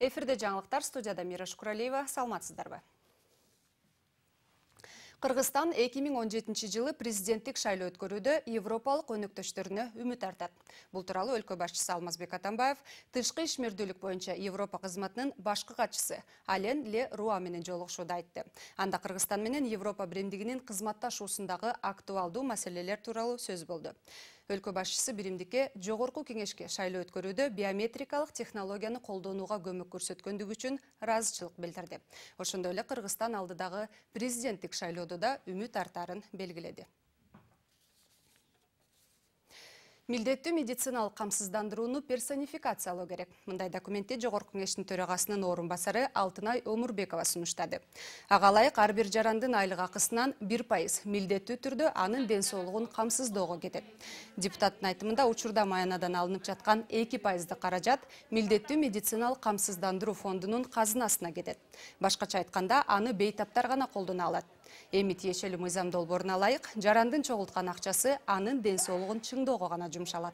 Эфирде жаңылыктар, студияда Мира Шукуралиева. Саламатсыздарбы? Кыргызстан 2017 жылы президенттик шайлоо өткөрүүдө Европалык өнөктөштөрүнө үмүт артат. Бул тууралуу өлкө башчысы Алмазбек Атамбаев тышкы ишмердүүлүк боюнча Европа кызматынын башкы катчысы Ален Ле Руа менен жолугушууда айтты. Анда Кыргызстан менен Европа биримдигинин кызматташуусундагы актуалдуу маселелер тууралуу сөз болду. Өлкө башчысы биримдикке жогорку кеңешке шайлоо өткөрүүдө биометрикалык технологияны колдонууга көмөк көрсөткөндүгү үчүн ыраазычылык билдирди. Ошондой эле Кыргызстан алдыдагы президенттик шайлоодо да үмүт артарын белгиледи. Милдеттүү медициналык камсыздандырууну персонификациялоо керек. Мындай документти Жогорку кеңештин төрагасынын орун басары Алтынай Омурбекова сунуштады. Ага ылайык ар бир жарандын айлык акысынан 1% милдеттүү түрдө анын ден соолугун камсыздоого кетет. Депутаттын айтымында учурда маянадан алынып жаткан 2% каражат милдеттүү медициналык камсыздандыруу фондунун казынасына кетет. Башкача айтканда, аны бейтаптар гана колдоно алат. Эми тиешелүү мыйзам долбооруна ылайык жарандын чогулткан акчасы анын ден соолугун чыңдоого гана жумшалат.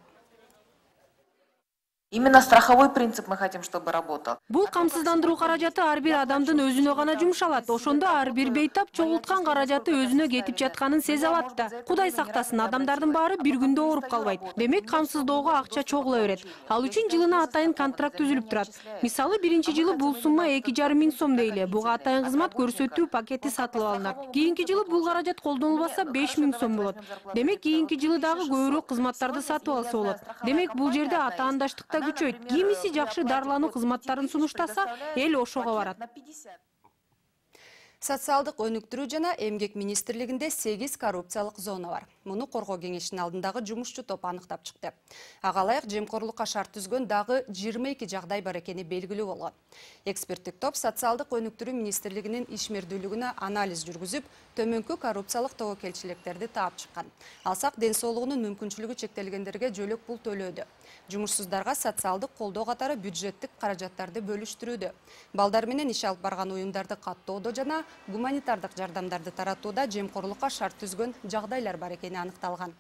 Именно страховой принцип мы хотим, чтобы работал. Бул камсыздандыруу каражаты ар бир адамдын өзүнө гана жумшалат. Ошондо ар бир бейтап чогулткан каражаты өзүнө кетип жатканын сезе алат да. Кудай сактасын, адамдардын баары бир күндө ооруп калбайт. Демек камсыздоого акча чогула берет. Ал үчүн жылына атайын контракт түзүлүп турат. Мисалы, биринчи жылы бул сумма 2,5 миң сом дейли. Буга атайын кызмат көрсөтүү пакети сатылып алынат. Кийинки жылы бул каражат колдонулбаса 5 миң сом болот. Демек кийинки жылы дагы көбүрөөк кызматтарды сатып алса болот. Демек бул жерде атаандаштыкта күчөйт. Кимиси жакшы дарылануу кызматтарын сунуштаса, эл ошого барат. Социалдык өнүктүрүү жана эмгек министрлигинде 8 коррупциялык зона бар. Муну коргоо кеңешинин алдындагы жумушчу топ аныктап чыкты. Ага ылайык жемкорлукка шарт түзгөн дагы 22 жагдай бар экени белгилүү болгон. Эксперттик топ социалдык өнүктүрүү министрлигинин ишмердүүлүгүнө анализ жүргүзүп, төмөнкү коррупциялык тобокелчиликтерди таап чыккан. Алсак, ден соолугунун мүмкүнчүлүгү чектелгендерге жөлөк пул төлөөдө. Жумушсуздарга социалдык колдоо катары бюджеттик каражаттарды бөлүштүрүүдө. Балдар менен иш алып барган уюмдарды каттоодо жана гуманитардык жардамдарды таратууда жемкорлукка шарт түзгөн жагдайлар бар экени аныкталган.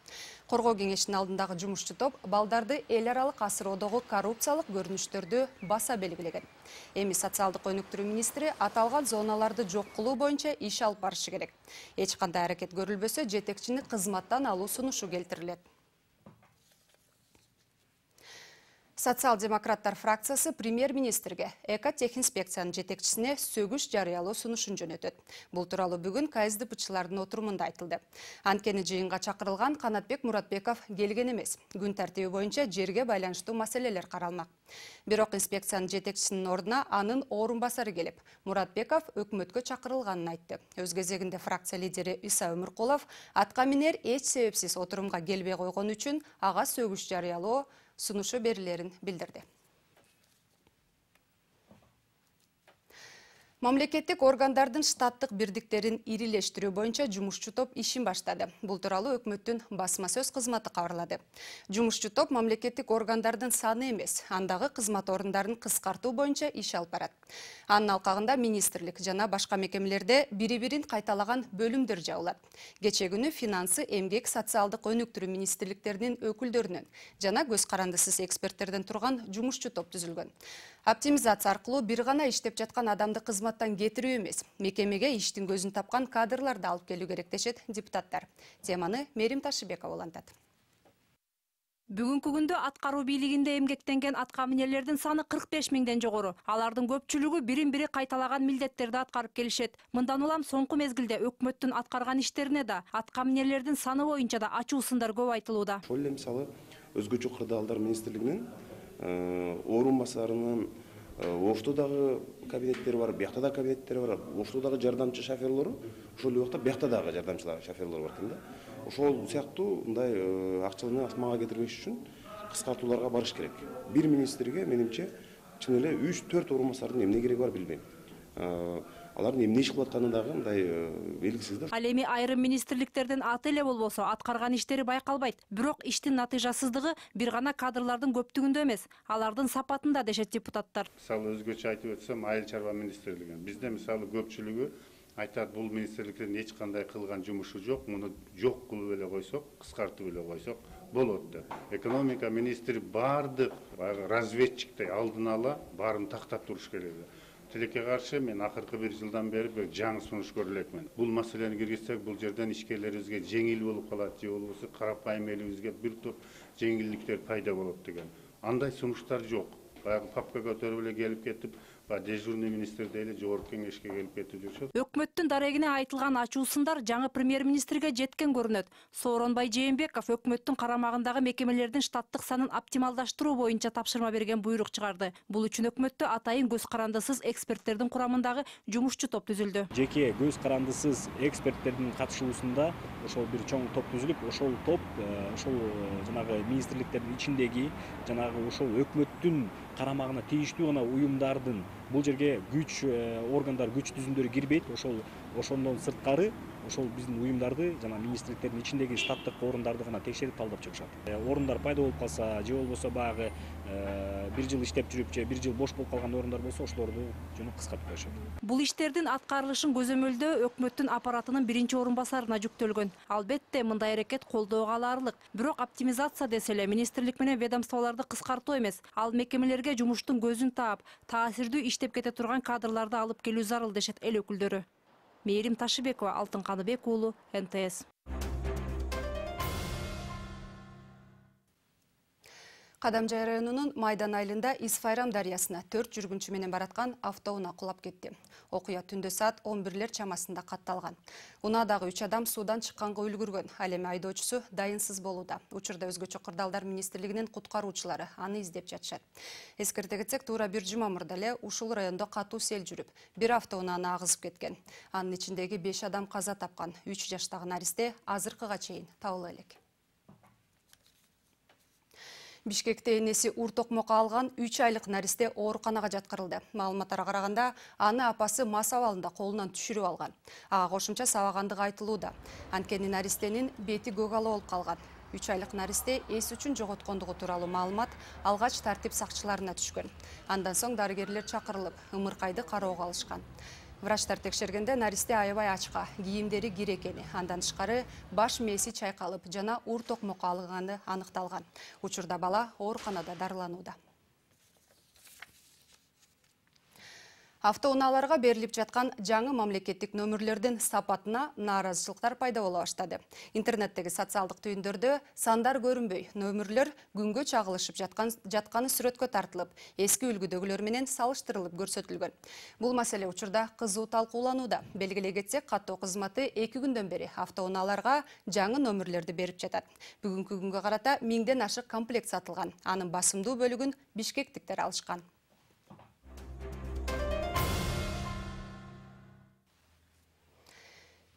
Коргоо кеңешинин алдындагы жумушчу топ балдарды эл аралык асыроодогу коррупциялык көрүнүштөрдү баса белгилеген. Эми социалдык өнүктүрүү министри аталган зоналарды жок кылуу боюнча иш алып барышы керек. Эч кандай аракет көрүлбөсө, жетекчини кызматтан алуу сунушу келтирилет. Социал-демократтар фракциясы премьер-министрге экотехинспекциянын жетекчисине сөгүш жарыялоо сунушун жөнөтөт. Бул тууралуу бүгүн КСДПчылардын отурумунда айтылды. Анткени жыйынга чакырылган Канатбек Муратбеков келген эмес. Күн тартиби боюнча жерге байланыштуу маселелер каралмак. Бирок инспекциянын жетекчисинин ордуна анын орун басары келип, Муратбеков өкмөткө чакырылганын айтты. Өз кезегинде фракция лидери Иса Өмүркулов атка минер эч себепсиз отурумга келбей койгон үчүн ага сөгүш жарыялоо сунушу берилерин билдирди. Мамлекеттик органдардын штаттык бирдиктерин ирилештирүү боюнча жумушчу топ ишин баштады. Бул тууралуу өкмөттүн басма сөз кызматы кабарлады. Жумушчу топ мамлекеттик органдардын саны эмес, андагы кызмат орундарын кыскартуу боюнча иш алып барат. Анын алкагында министрлик жана башка мекемелерде бири-бирин кайталаган бөлүмдөр жабылат. Кечээ күнү финансы, эмгек, социалдык өнүктүрүү министрликтеринин өкүлдөрүнөн жана көз карандысыз эксперттерден турган жумушчу топ түзүлгөн. Оптимизация аркылуу бир гана иштеп жаткан адамды кызматтан кетирүү эмес, мекемеге иштин көзүн тапкан кадрларды алып келүү керек дешет депутаттар. Теманы Мерим Ташыбекова улантат. Бүгүнкү күндө аткаруу бийлигинде эмгектенген атка минерлердин саны 45 миңден жогору. Алардын көпчүлүгү бирин-бири кайталаган милдеттерди аткарып келишет. Мындан улам соңку мезгилде өкмөттүн аткарган иштерине да, атка минерлердин саны боюнча да ачуу сындар көп айтылууда. Ошол эле мисалы өзгөчө кырдаалдар министрлигинин орун басарынын Ошто дагы кабинеттери бар, биякта да кабинеттери бар. Ошто дагы жардамчы шоферлору, ошол убакта биякта дагы жардамчы шоферлор бар экен да. Ошол сыяктуу мындай акчаны асмага кетирбеш үчүн кыскартууларга барыш керек. Бир министрге менимче чын эле 3-4 орун басардын эмне кереги бар билбейм. Алардын эмне иш кылып атканы дагы мындай белгисиз да. Ал эми айрым министрликтердин аты эле болбосо аткарган иштери байкалбайт. Бирок иштин натыйжасыздыгы бир гана кадрлардын көптүгүндө эмес, алардын сапатында дешет депутаттар. Мисалы өзгөчө айтып өтсөм, айыл чарба министрлиги. Бизде мисалы көпчүлүгү айтат бул министрликтин эч кандай кылган жумушу жок, муну жок кылып эле койсок, кыскартып эле койсок болот деп. Экономика министри бардык разведчиктей алдын ала баарын тактап туруш керек. Тилекке каршы мен акыркы 1 жылдан бери бир жаңы сунуш көрө элекмин. Бул маселени киргизсек, бул жерден ишкерлерибизге жеңил болуп калат, же болбосо карапайым элибизге бир топ жеңилдиктер пайда болот деген. Андай сунуштар жок. Баягы папка көтөрүп эле келип кетип, дежурный министр дейли жогорку кеңешке келип кетип жүрүшөт. Өкмөттүн дарегине айтылган ачуу сындар жаңы премьер-министрге жеткен көрүнөт. Сооронбай Жээнбеков өкмөттүн карамагындагы мекемелердин штаттык санын оптималдаштыруу боюнча тапшырма берген буйрук чыгарды. Бул үчүн өкмөттө атайын көз карандысыз эксперттердин курамындагы жумушчу топ түзүлдү. Жеке көз карандысыз эксперттердин катышуусунда ошол бир чоң топ түзүлүп, ошол топ ошол жанагы министрликтердин ичиндеги жанагы ошол өкмөттүн карамагына тийиштүү гана уюмдардын бул жерге күч органдар, күч түзүмдөрү кирбейт. Ошондон сырткары ошол биздин уюмдарды жана министрликтердин ичиндеги штаттык орундарды гана текшерип талдап чыгышат. Орундар пайда болуп калса, же болбосо баягы 1 жыл иштеп жүрүп, же 1 жыл бош болуп калган орундар болсо, ошолорду жөнү кыскартып коюшат. Бул иштердин аткарылышын көзөмөлдөө өкмөттүн аппаратынын 1-орун басарына жүктөлгөн. Албетте, мындай аракет колдоого аларлык. Бирок оптимизация десе эле министрлик менен ведомстволорду кыскартуу эмес, ал мекемелерге жумуштун көзүн таап, таасирдүү иштеп кете турган кадрларды алып келүү зарыл дешет эл өкүлдөрү. Мээрим Ташыбекова, Алтын Каныбек уулу, НТС. Кадамжай районунун Майдан айылында Исфайрам дарыясына 4 жүргүнчү менен бараткан автоунаа кулап кетти. Окуя түндө саат 11 чамасында катталган. Унаадагы 3 адам суудан чыкканга үлгүргөн. Ал эми айдоочусу дайынсыз болууда. Учурда өзгөчө кырдаалдар министрлигинин куткаруучулары аны издеп жатышат. Эскерте кетсек, туура 1 жума мурда эле ушул райондо катуу сел жүрүп, бир автоунааны агызып кеткен. Анын ичиндеги 5 адам каза тапкан. 3 жаштагы наристе азыркыга чейин табыла элек. Бишкекте энеси ур токмокко алган 3 айлык наристе ооруканага жаткырылды. Маалыматтарга караганда, аны апасы мас абалында колунан түшүрүп алган. Ага кошумча сабагандыгы айтылууда. Анткени наристенин бети көк ала болуп калган. 3 айлык наристе эс үчүн жоготкондугу тууралуу маалымат алгач тартип сакчыларына түшкөн. Андан соң дарыгерлер чакырылып, ымыркайды кароого алышкан. Врачтар текшергенде наристе аябай ачка, кийимдери кир экени, андан тышкары баш мээси чайкалып жана ур токмокко алынганы аныкталган. Учурда бала ооруканада дарыланууда. Автоунааларга берилип жаткан жаңы мамлекеттик нөмүрлөрдүн сапатына нааразычылыктар пайда боло баштады. Интернеттеги социалдык түйүндөрдө сандар көрүнбөй, нөмүрлөр күнгө чагылышып жатканы сүрөткө тартылып, эски үлгүдөгүлөр менен салыштырылып көрсөтүлгөн. Бул маселе учурда кызуу талкууланууда. Белгилей кетсек, каттоо кызматы 2 күндөн бери автоунааларга жаңы нөмүрлөрдү берип жатат. Бүгүнкү күнгө карата 1000ден ашык комплект сатылган. Анын басымдуу бөлүгүн бишкектиктер алышкан.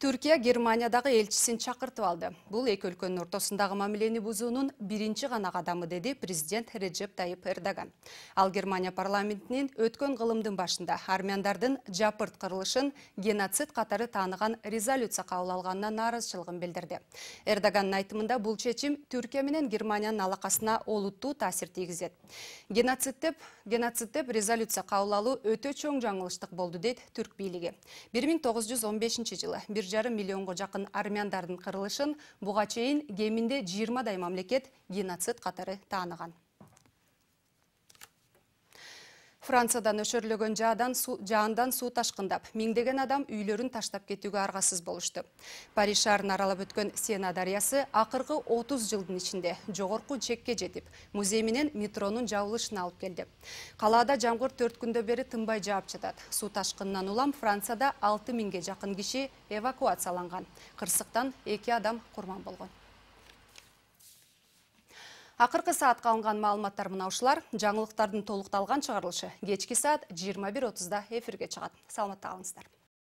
Түркия Германиядагы элчисин чакыртып алды. Бул эки өлкөнүн ортосундагы мамилени бузуунун биринчи гана кадамы, деди президент Реджеп Тайып Эрдоган. Ал Германия парламентинин өткөн кылымдын башында армяндардын жапырт кырылышын геноцид катары тааныган резолюция кабыл алганына нааразычылыгын билдирди. Эрдогандын айтымында бул чечим Түркия менен Германиянын алакасына олуттуу таасир тийгизет. Геноцид деп резолюция кабыл алуу өтө чоң жаңылыштык болду, дейт түрк бийлиги. 1915-жылы 1,5 миллионго жакын армяндардын кырылышын буга чейин кеминде 20 мамлекет геноцид катары тааныган. Франциядан өшөрлөгөн жаандан суу ташкындап, миңдеген адам үйлөрүн таштап кетүүгө аргасыз болушту. Париж шаарын аралап өткөн Сена дарыясы акыркы 30 жылдын ичинде жогорку чекке жетип, музей менен метронун жабылышына алып келди. Калаада жамгыр 4 күндө бери тынбай жаап жатат. Суу ташкынынан улам Францияда 6000ге жакын киши эвакуацияланган. Кырсыктан 2 адам курман болгон. Акыркы саатка алынган маалыматтар мына ушулар. Жаңылыктардын толукталган чыгарылышы кечки саат 21:30 эфирге чыгат. Саламатта калыңыздар.